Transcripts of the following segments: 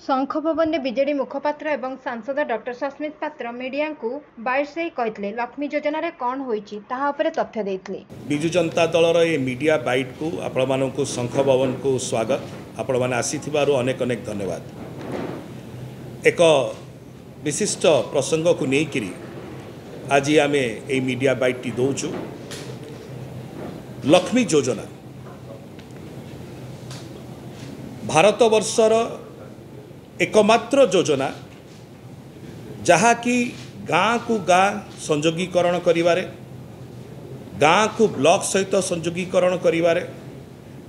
ଶଙ୍ଖ ଭବନରେ ବିଜେଡି ମୁଖପାତ୍ର ଏବଂ ସାଂସଦ ଡକ୍ଟର ସସ୍ମିତ ପାତ୍ର ମିଡିଆଙ୍କୁ ବାଇଟ୍ସ ଦେଇ କହିଥିଲେ, ଲକ୍ଷ୍ମୀ ଯୋଜନାରେ କ'ଣ ହୋଇଛି ତାହା ଉପରେ ତଥ୍ୟ ଦେଇଥିଲେ। ବିଜୁ ଜନତା ଦଳର ଏ ମିଡ଼ିଆ ବାଇଟ୍କୁ ଆପଣମାନଙ୍କୁ ଶଙ୍ଖ ଭବନକୁ ସ୍ୱାଗତ। ଆପଣମାନେ ଆସିଥିବାରୁ ଅନେକ ଅନେକ ଧନ୍ୟବାଦ। ଏକ ବିଶିଷ୍ଟ ପ୍ରସଙ୍ଗକୁ ନେଇକରି ଆଜି ଆମେ ଏଇ ମିଡ଼ିଆ ବାଇଟ୍ଟି ଦେଉଛୁ। ଲକ୍ଷ୍ମୀ ଯୋଜନା ଭାରତବର୍ଷର ଏକମାତ୍ର ଯୋଜନା ଯାହାକି ଗାଁକୁ ଗାଁ ସଂଯୋଗୀକରଣ କରିବାରେ, ଗାଁକୁ ବ୍ଲକ ସହିତ ସଂଯୋଗୀକରଣ କରିବାରେ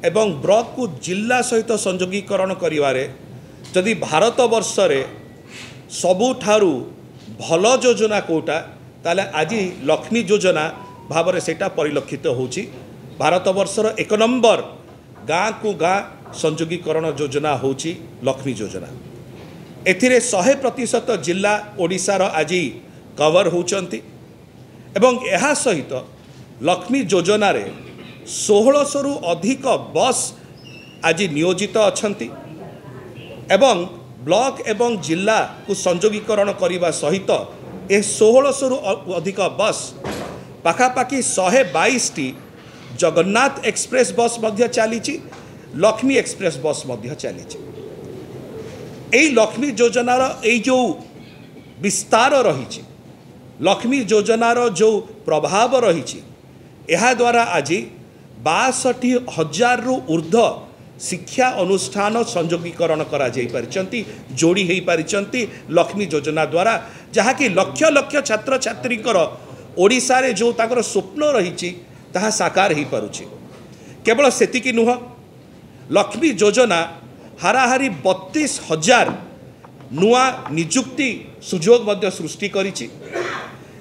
ଏବଂ ବ୍ଲକକୁ ଜିଲ୍ଲା ସହିତ ସଂଯୋଗୀକରଣ କରିବାରେ ଯଦି ଭାରତବର୍ଷରେ ସବୁଠାରୁ ଭଲ ଯୋଜନା କେଉଁଟା, ତାହେଲେ ଆଜି ଲକ୍ଷ୍ମୀ ଯୋଜନା ଭାବରେ ସେଇଟା ପରିଲକ୍ଷିତ ହେଉଛି। ଭାରତବର୍ଷର ଏକ ନମ୍ବର ଗାଁକୁ ଗାଁ ସଂଯୋଗୀକରଣ ଯୋଜନା ହେଉଛି ଲକ୍ଷ୍ମୀ ଯୋଜନା। ଏଥିରେ 100% ଜିଲ୍ଲା ଓଡ଼ିଶାର ଆଜି କଭର ହେଉଛନ୍ତି ଏବଂ ଏହା ସହିତ ଲକ୍ଷ୍ମୀ ଯୋଜନାରେ 1600ରୁ ଅଧିକ ବସ୍ ଆଜି ନିୟୋଜିତ ଅଛନ୍ତି ଏବଂ ବ୍ଲକ ଏବଂ ଜିଲ୍ଲାକୁ ସଂଯୋଗୀକରଣ କରିବା ସହିତ ଏ 1600ରୁ ଅଧିକ ବସ୍, ପାଖାପାଖି 122ଟି ଜଗନ୍ନାଥ ଏକ୍ସପ୍ରେସ୍ ବସ୍ ମଧ୍ୟ ଚାଲିଛି, ଲକ୍ଷ୍ମୀ ଏକ୍ସପ୍ରେସ୍ ବସ୍ ମଧ୍ୟ ଚାଲିଛି। ଏଇ ଲକ୍ଷ୍ମୀ ଯୋଜନାର ଏଇ ଯେଉଁ ବିସ୍ତାର ରହିଛି, ଲକ୍ଷ୍ମୀ ଯୋଜନାର ଯେଉଁ ପ୍ରଭାବ ରହିଛି, ଏହାଦ୍ୱାରା ଆଜି 62,000ରୁ ଉର୍ଦ୍ଧ୍ୱ ଶିକ୍ଷା ଅନୁଷ୍ଠାନ ସଂଯୋଗୀକରଣ କରାଯାଇପାରିଛନ୍ତି, ଯୋଡ଼ି ହୋଇପାରିଛନ୍ତି ଲକ୍ଷ୍ମୀ ଯୋଜନା ଦ୍ୱାରା, ଯାହାକି ଲକ୍ଷ ଲକ୍ଷ ଛାତ୍ରଛାତ୍ରୀଙ୍କର ଓଡ଼ିଶାରେ ଯେଉଁ ତାଙ୍କର ସ୍ୱପ୍ନ ରହିଛି ତାହା ସାକାର ହୋଇପାରୁଛି। କେବଳ ସେତିକି ନୁହଁ, ଲକ୍ଷ୍ମୀ ଯୋଜନା ହାରାହାରି 32,000 ନୂଆ ନିଯୁକ୍ତି ସୁଯୋଗ ମଧ୍ୟ ସୃଷ୍ଟି କରିଛି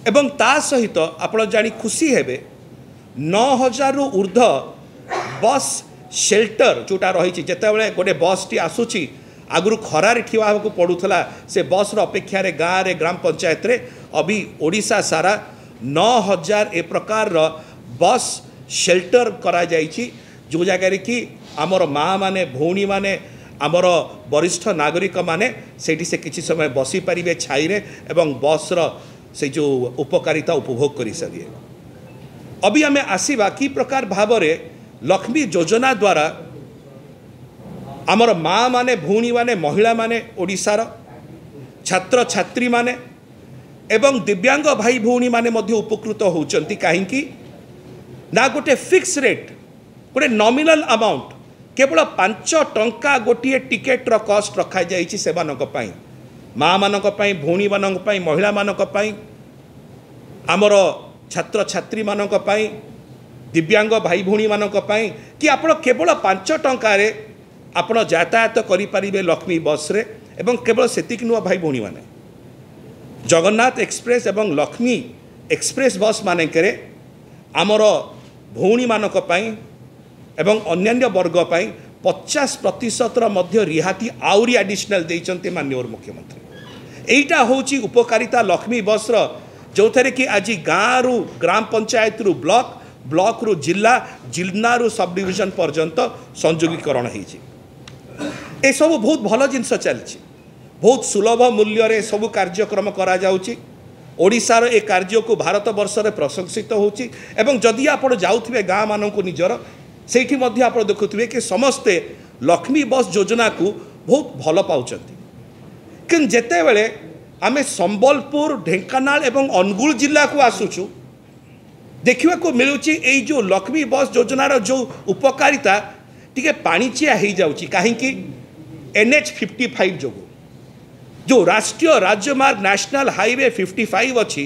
ଏବଂ ତା ସହିତ ଆପଣ ଜାଣି ଖୁସି ହେବେ, 9,000ରୁ ଉର୍ଦ୍ଧ୍ୱ ବସ୍ ସେଲ୍ଟର ଯେଉଁଟା ରହିଛି, ଯେତେବେଳେ ଗୋଟେ ବସ୍ଟି ଆସୁଛି ଆଗରୁ ଖରାରେ ଠିଆ ହେବାକୁ ପଡ଼ୁଥିଲା ସେ ବସ୍ର ଅପେକ୍ଷାରେ ଗାଁରେ, ଗ୍ରାମ ପଞ୍ଚାୟତରେ। ଅବି ଓଡ଼ିଶା ସାରା 9,000 ଏ ପ୍ରକାରର ବସ୍ ସେଲ୍ଟର କରାଯାଇଛି, ଯେଉଁ ଜାଗାରେ କି ଆମର ମା' ମାନେ, ଭଉଣୀମାନେ, ଆମର ବରିଷ୍ଠ ନାଗରିକମାନେ ସେଇଠି ସେ କିଛି ସମୟ ବସିପାରିବେ ଛାଇରେ ଏବଂ ବସ୍ର ସେ ଯେଉଁ ଉପକାରିତା ଉପଭୋଗ କରିସାରିବେ। ଅବି ଆମେ ଆସିବା କି ପ୍ରକାର ଭାବରେ ଲକ୍ଷ୍ମୀ ଯୋଜନା ଦ୍ୱାରା ଆମର ମା' ମାନେ, ଭଉଣୀମାନେ, ମହିଳାମାନେ, ଓଡ଼ିଶାର ଛାତ୍ରଛାତ୍ରୀମାନେ ଏବଂ ଦିବ୍ୟାଙ୍ଗ ଭାଇ ଭଉଣୀମାନେ ମଧ୍ୟ ଉପକୃତ ହେଉଛନ୍ତି। କାହିଁକି ନା ଗୋଟେ ଫିକ୍ସ ରେଟ୍, ଗୋଟେ ନମିନାଲ ଆମାଉଣ୍ଟ, କେବଳ 5 ଟଙ୍କା ଗୋଟିଏ ଟିକେଟ୍ର କଷ୍ଟ ରଖାଯାଇଛି ସେମାନଙ୍କ ପାଇଁ, ମାଆମାନଙ୍କ ପାଇଁ, ଭଉଣୀମାନଙ୍କ ପାଇଁ, ମହିଳାମାନଙ୍କ ପାଇଁ, ଆମର ଛାତ୍ରଛାତ୍ରୀମାନଙ୍କ ପାଇଁ, ଦିବ୍ୟାଙ୍ଗ ଭାଇ ଭଉଣୀମାନଙ୍କ ପାଇଁ, କି ଆପଣ କେବଳ 5 ଟଙ୍କାରେ ଆପଣ ଯାତାୟାତ କରିପାରିବେ ଲକ୍ଷ୍ମୀ ବସ୍ରେ। ଏବଂ କେବଳ ସେତିକି ନୁହଁ ଭାଇ ଭଉଣୀମାନେ, ଜଗନ୍ନାଥ ଏକ୍ସପ୍ରେସ୍ ଏବଂ ଲକ୍ଷ୍ମୀ ଏକ୍ସପ୍ରେସ୍ ବସ୍ ମାନଙ୍କରେ ଆମର ଭଉଣୀମାନଙ୍କ ପାଇଁ ଏବଂ ଅନ୍ୟାନ୍ୟ ବର୍ଗ ପାଇଁ 50%ର ମଧ୍ୟ ରିହାତି ଆହୁରି ଆଡ଼ିସନାଲ୍ ଦେଇଛନ୍ତି ମାନ୍ୟବର ମୁଖ୍ୟମନ୍ତ୍ରୀ। ଏଇଟା ହେଉଛି ଉପକାରିତା ଲକ୍ଷ୍ମୀ ବସ୍ର, ଯେଉଁଥିରେ କି ଆଜି ଗାଁରୁ ଗ୍ରାମ ପଞ୍ଚାୟତରୁ ବ୍ଲକ, ବ୍ଲକରୁ ଜିଲ୍ଲା, ଜିଲ୍ଲାରୁ ସବ୍ ଡିଭିଜନ ପର୍ଯ୍ୟନ୍ତ ସଂଯୋଗୀକରଣ ହେଇଛି। ଏସବୁ ବହୁତ ଭଲ ଜିନିଷ ଚାଲିଛି, ବହୁତ ସୁଲଭ ମୂଲ୍ୟରେ ସବୁ କାର୍ଯ୍ୟକ୍ରମ କରାଯାଉଛି। ଓଡ଼ିଶାର ଏ କାର୍ଯ୍ୟକୁ ଭାରତବର୍ଷରେ ପ୍ରଶଂସିତ ହେଉଛି ଏବଂ ଯଦି ଆପଣ ଯାଉଥିବେ ଗାଁମାନଙ୍କୁ ନିଜର, ସେଇଠି ମଧ୍ୟ ଆପଣ ଦେଖୁଥିବେ କି ସମସ୍ତେ ଲକ୍ଷ୍ମୀ ବସ୍ ଯୋଜନାକୁ ବହୁତ ଭଲ ପାଉଛନ୍ତି। କିନ୍ତୁ ଯେତେବେଳେ ଆମେ ସମ୍ବଲପୁର, ଢେଙ୍କାନାଳ ଏବଂ ଅନୁଗୁଳ ଜିଲ୍ଲାକୁ ଆସୁଛୁ, ଦେଖିବାକୁ ମିଳୁଛି ଏଇ ଯେଉଁ ଲକ୍ଷ୍ମୀ ବସ୍ ଯୋଜନାର ଯେଉଁ ଉପକାରିତା ଟିକେ ପାଣିଚିଆ ହେଇଯାଉଛି। କାହିଁକି? NH 55 ଯୋଗୁଁ, ଯେଉଁ ରାଷ୍ଟ୍ରୀୟ ରାଜମାର୍ଗ ନ୍ୟାସନାଲ୍ ହାଇୱେ 55 ଅଛି,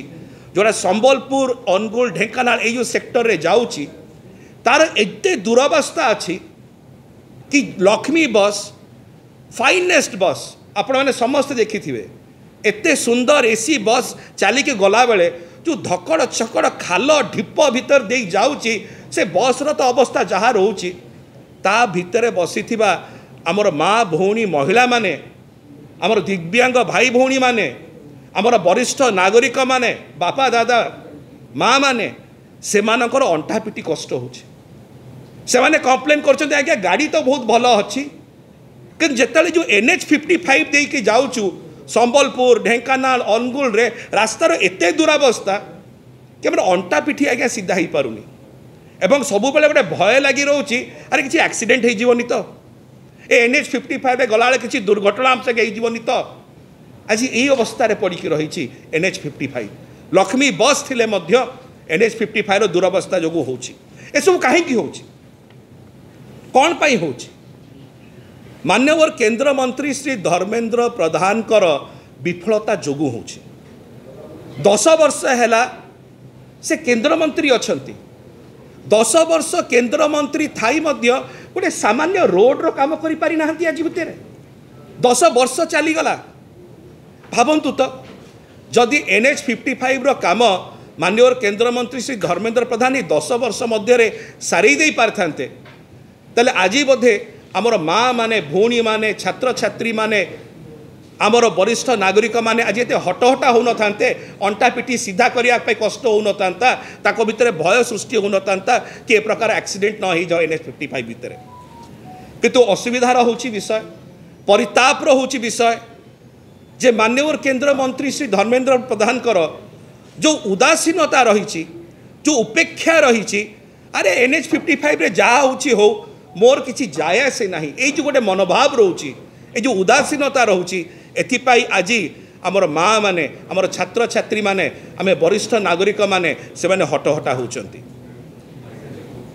ଯେଉଁଟା ସମ୍ବଲପୁର, ଅନୁଗୁଳ, ଢେଙ୍କାନାଳ ଏଇ ଯେଉଁ ସେକ୍ଟରରେ ଯାଉଛି, ତାର ଏତେ ଦୁରବସ୍ଥା ଅଛି କି ଲକ୍ଷ୍ମୀ ବସ୍, ଫାଇନେଷ୍ଟ ବସ୍, ଆପଣମାନେ ସମସ୍ତେ ଦେଖିଥିବେ, ଏତେ ସୁନ୍ଦର ଏସି ବସ୍ ଚାଲିକି ଗଲାବେଳେ ଯେଉଁ ଧକଡ଼ ଛକଡ଼ ଖାଲ ଢିପ ଭିତରେ ଦେଇ ଯାଉଛି, ସେ ବସ୍ର ତ ଅବସ୍ଥା ଯାହା ରହୁଛି, ତା ଭିତରେ ବସିଥିବା ଆମର ମା ଭଉଣୀ ମହିଳାମାନେ, ଆମର ଦିବ୍ୟାଙ୍ଗ ଭାଇ ଭଉଣୀମାନେ, ଆମର ବରିଷ୍ଠ ନାଗରିକମାନେ, ବାପା ଦାଦା ମାଆମାନେ, ସେମାନଙ୍କର ଅଣ୍ଟା ପିଟି କଷ୍ଟ ହେଉଛି। ସେମାନେ କମ୍ପ୍ଲେନ୍ କରୁଛନ୍ତି, ଆଜ୍ଞା ଗାଡ଼ି ତ ବହୁତ ଭଲ ଅଛି, କିନ୍ତୁ ଯେତେବେଳେ ଯେଉଁ NH 55 ଦେଇକି ଯାଉଛୁ, ସମ୍ବଲପୁର, ଢେଙ୍କାନାଳ, ଅନୁଗୁଳରେ ରାସ୍ତାର ଏତେ ଦୁରାବସ୍ଥା କି ଆମର ଅଣ୍ଟା ପିଠି ଆଜ୍ଞା ସିଧା ହେଇପାରୁନି ଏବଂ ସବୁବେଳେ ଗୋଟେ ଭୟ ଲାଗି ରହୁଛି, ଆରେ କିଛି ଆକ୍ସିଡେଣ୍ଟ ହେଇଯିବନି ତ, ଏ NH 55ରେ ଗଲାବେଳେ କିଛି ଦୁର୍ଘଟଣା ଆମ ସାଙ୍ଗେ ହେଇଯିବନି ତ? ଆଜି ଏଇ ଅବସ୍ଥାରେ ପଡ଼ିକି ରହିଛି NH 55। Lakshmi bus ଥିଲେ ମଧ୍ୟ NH 55ର ଦୁରବସ୍ଥା ଯୋଗୁଁ ହେଉଛି। ଏସବୁ କାହିଁକି ହେଉଛି? କ'ଣ ପାଇଁ ହେଉଛି? ମାନ୍ୟବର କେନ୍ଦ୍ରମନ୍ତ୍ରୀ ଶ୍ରୀ ଧର୍ମେନ୍ଦ୍ର ପ୍ରଧାନଙ୍କର ବିଫଳତା ଯୋଗୁଁ ହେଉଛି। 10 ବର୍ଷ ହେଲା ସେ କେନ୍ଦ୍ରମନ୍ତ୍ରୀ ଅଛନ୍ତି। 10 ବର୍ଷ କେନ୍ଦ୍ରମନ୍ତ୍ରୀ ଥାଇ ମଧ୍ୟ ଗୋଟେ ସାମାନ୍ୟ ରୋଡ଼ର କାମ କରିପାରିନାହାନ୍ତି। ଆଜି ଭିତରେ 10 ବର୍ଷ ଚାଲିଗଲା। ଭାବନ୍ତୁ ତ, ଯଦି NH 55ର କାମ ମାନ୍ୟବର କେନ୍ଦ୍ରମନ୍ତ୍ରୀ ଶ୍ରୀ ଧର୍ମେନ୍ଦ୍ର ପ୍ରଧାନ ଏଇ 10 ବର୍ଷ ମଧ୍ୟରେ ସାରେଇ ଦେଇପାରିଥାନ୍ତେ, ତାହେଲେ ଆଜି ବୋଧେ ଆମର ମା ମାନେ, ଭଉଣୀମାନେ, ଛାତ୍ରଛାତ୍ରୀମାନେ, ଆମର ବରିଷ୍ଠ ନାଗରିକମାନେ ଆଜି ଏତେ ହଟହଟା ହେଉନଥାନ୍ତେ, ଅଣ୍ଟା ପିଠି ସିଧା କରିବା ପାଇଁ କଷ୍ଟ ହେଉନଥାନ୍ତା, ତାଙ୍କ ଭିତରେ ଭୟ ସୃଷ୍ଟି ହେଉନଥାନ୍ତା କି ଏ ପ୍ରକାର ଆକ୍ସିଡେଣ୍ଟ ନ ହେଇଯାଉ NH 55 ଭିତରେ। କିନ୍ତୁ ଅସୁବିଧାର ହେଉଛି ବିଷୟ, ପରିତାପର ହେଉଛି ବିଷୟ ଯେ ମାନ୍ୟବର କେନ୍ଦ୍ରମନ୍ତ୍ରୀ ଶ୍ରୀ ଧର୍ମେନ୍ଦ୍ର ପ୍ରଧାନଙ୍କର ଯେଉଁ ଉଦାସୀନତା ରହିଛି, ଯେଉଁ ଉପେକ୍ଷା ରହିଛି, ଆରେ NH 55ରେ ଯାହା ହେଉଛି ହଉ, ମୋର କିଛି ଯାଏ ଆସେ ନାହିଁ, ଏଇ ଯେଉଁ ଗୋଟେ ମନୋଭାବ ରହୁଛି, ଏଇ ଯେଉଁ ଉଦାସୀନତା ରହୁଛି, ଏଥିପାଇଁ ଆଜି ଆମର ମା ମାନେ, ଆମର ଛାତ୍ରଛାତ୍ରୀମାନେ, ଆମେ ବରିଷ୍ଠ ନାଗରିକମାନେ, ସେମାନେ ହଟହଟା ହେଉଛନ୍ତି।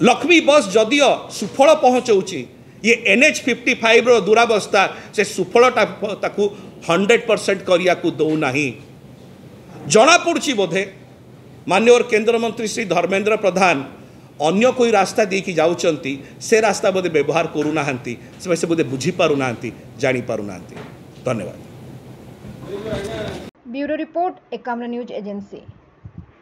ଲକ୍ଷ୍ମୀ ବସ୍ ଯଦିଓ ସୁଫଳ ପହଞ୍ଚଉଛି, ଇଏ NH 55ର ଦୁରାବସ୍ଥା ସେ ସୁଫଳଟା ତାକୁ 100% କରିବାକୁ ଦେଉନାହିଁ। ଜଣାପଡ଼ୁଛି ବୋଧେ ମାନ୍ୟବର କେନ୍ଦ୍ରମନ୍ତ୍ରୀ ଶ୍ରୀ ଧର୍ମେନ୍ଦ୍ର ପ୍ରଧାନ ଅନ୍ୟ କୋଇ ରାସ୍ତା ଦେଇକି ଯାଉଛନ୍ତି, ସେ ରାସ୍ତା ବୋଧେ ବ୍ୟବହାର କରୁନାହାନ୍ତି। ସେ ବୋଧେ ବୁଝିପାରୁନାହାନ୍ତି, ଜାଣିପାରୁନାହାନ୍ତି। ଧନ୍ୟବାଦ। Bureau report, Ekamra news agency.